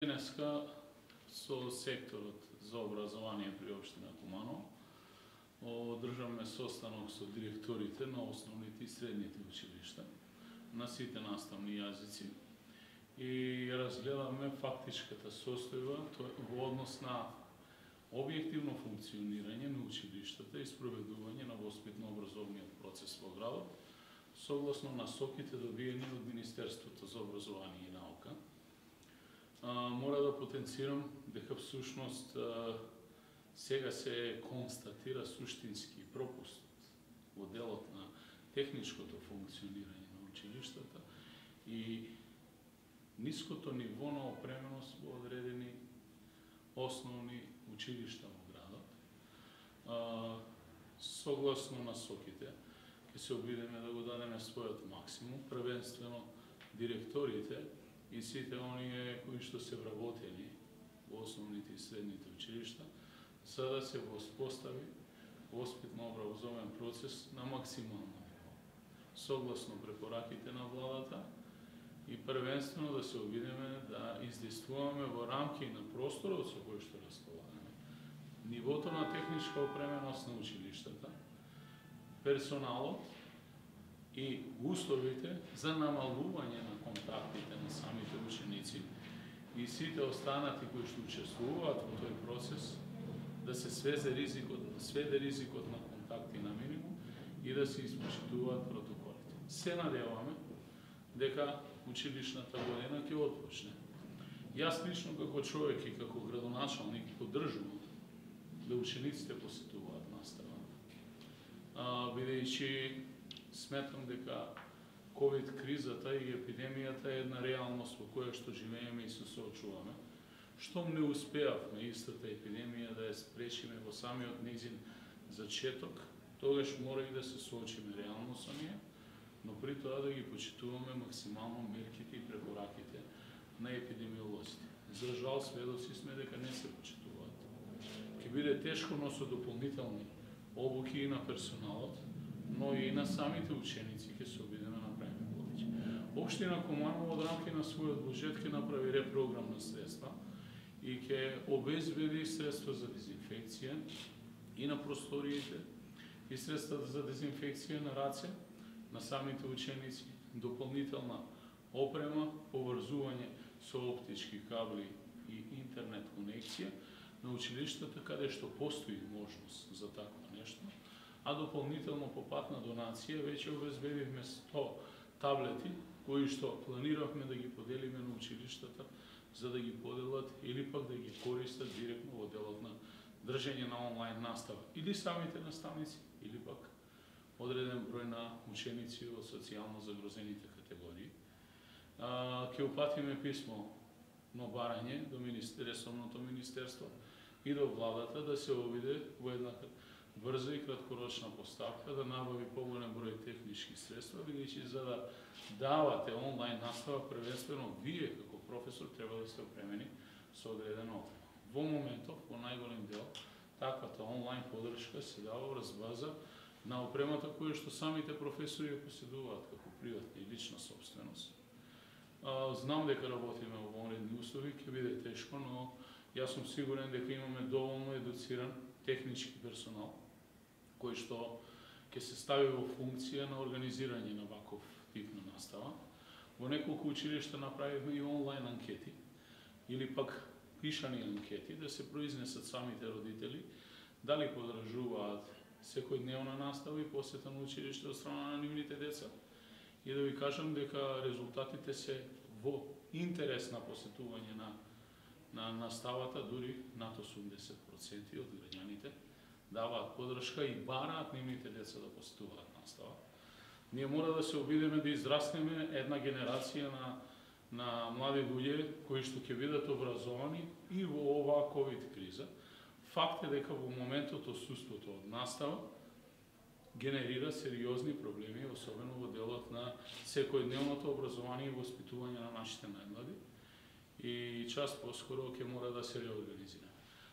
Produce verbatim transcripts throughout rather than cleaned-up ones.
Денеска со секторот за образование при општина Куманово одржавме состанок со директорите на основните и средните училишта на сите наставни јазици и разгледаме фактичката состојба во однос на објективно функционирање на училиштата и спроведување на воспитно-образовниот процес во градот согласно насоките добиени од Министерството за образование и наука. А, мора да потенцирам дека всушност а, сега се констатира суштински пропуст во делот на техничкото функционирање на училиштата и ниското ниво на опременост во одредени основни училишта во градот. А, согласно насоките, ќе се обидеме да го дадеме својот максимум, првенствено директорите и сите оние кои што се вработени во основните и средните училишта, за да се воспостави воспитно-образовен процес на максимално ниво, согласно препораките на владата и првенствено да се обидеме да издействуваме во рамки на просторот со кој што располагаме, нивото на техничка опременост на училиштата, персоналот и условите за намалување на контактите на самите ученици и сите останати кои што учествуваат во тој процес, да се сведе ризикот, сведе ризикот на контакти на минимум и да се испочитуваат протоколите. Се надеваме дека училишната година ќе отпочне. Јас лично како човек и како градоначалник поддржувам да учениците посетуваат настава, бидејќи сметам дека ковид кризата и епидемијата е една реалност во која што живееме и се соочуваме. Штом не успеавме истата епидемија да ја спречиме во самиот нејзин зачеток, тогаш мора и да се соочиме реално со неја, но при тоа да ги почитуваме максимално мерките и препораките на епидемиолозите. За жал, сведоци сме дека не се почитуваат. Ќе биде тешко, но со дополнителни обуки и на персоналот, но и на самите ученици ќе се обидеме да направиме повеќе. Општина Куманово од рамки на својот буџет ќе направи репрограм на средства и ќе обезбеди средства за дезинфекција и на просториите и средства за дезинфекција на раце на самите ученици, дополнителна опрема, поврзување со оптички кабли и интернет конекција на училиштата каде што постои можност за такво нешто, а дополнително по пат на донација веќе обезбедивме сто таблети кои што планиравме да ги поделиме на училиштата за да ги поделат или пак да ги користат директно во делот на држење на онлайн настава или самите наставници или пак одреден број на ученици од социјално загрозените категории. Ќе упатиме писмо на барање до ресорното министерство и до владата да се обиде во една брза и краткорочна поставка да набави поголем број технички средства, бидејќи за да давате онлайн настава, првенствено вие како професор треба да сте опремени со одредена опрема. Во моментов, во најголем дел, таквата онлайн поддршка се дава врз база на опремата која што самите професори ја поседуваат како приватна и лична собственост. Знам дека работиме во вонредни услови, ќе биде тешко, но јас сум сигурен дека имаме доволно едуциран технички персонал кој што ќе се стави во функција на организирање на ваков тип на настава. Во неколку училишта направивме и онлайн анкети или пак пишани анкети да се произнесат самите родители дали поддржуваат секојдневна настава и посета на училиште од страна на нивните деца. И да ви кажам дека резултатите се во интерес на посетување на на наставата, дури над осумдесет проценти од граѓаните даваат поддршка и бараат нивните деца да посетуваат настава. Ние мора да се обидеме да израснеме една генерација на на млади луѓе кои што ќе бидат образовани и во оваа ковид криза. Факт е дека во моментот отсуството од настава генерира сериозни проблеми, особено во делот на секојдневното образование и воспитување на нашите најмлади. И час поскоро ќе мора да се реорганизираме.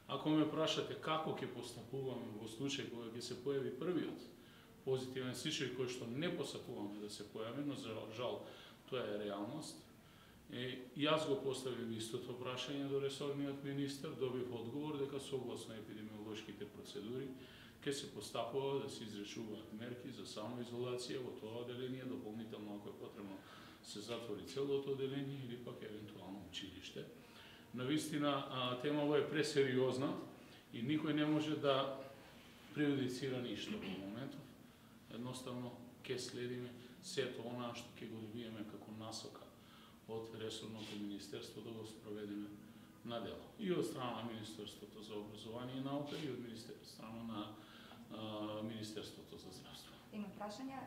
Ако ме прашате како ќе постапуваме во случај кога ќе се појави првиот позитивен случај кој што не посакуваме да се појави, но за жал тоа е реалност, Е, јас го поставив истото прашање до ресорниот министер, добив одговор дека согласно епидемиолошките процедури ќе се постапува да се изречуваат мерки за самоизолација во тоа одделение, дополнително ако е потребно се затвори целото одделение или пак евентуално училиште. Навистина темава е пресериозна и никој не може да преюдицира ништо во моментов. Едноставно ќе следиме сето она што ќе го добиеме како насока од ресорното министерство да го спроведеме на дело. И од страна на Министерството за образование и наука и од страна на Министерството за здравство. Има прашања.